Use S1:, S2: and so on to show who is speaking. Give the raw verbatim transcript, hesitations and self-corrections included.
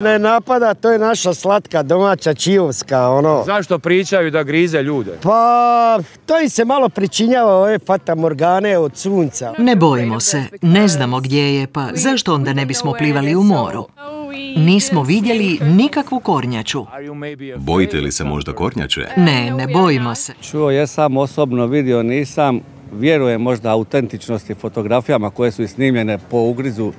S1: Ne napada, to je naša slatka domaća čijovska, ono.
S2: Zašto pričaju da grize ljude?
S1: Pa, to im se malo pričinjava ove fatamorgane od sunca.
S3: Ne bojimo se, ne znamo gdje je, pa zašto onda ne bismo plivali u moru? Nismo vidjeli nikakvu kornjaču.
S4: Bojite li se možda kornjače?
S3: Ne, ne bojimo se.
S5: Čuo jesam, osobno vidio nisam. Vjerujem možda autentičnosti fotografijama koje su snimljene po ugrizu.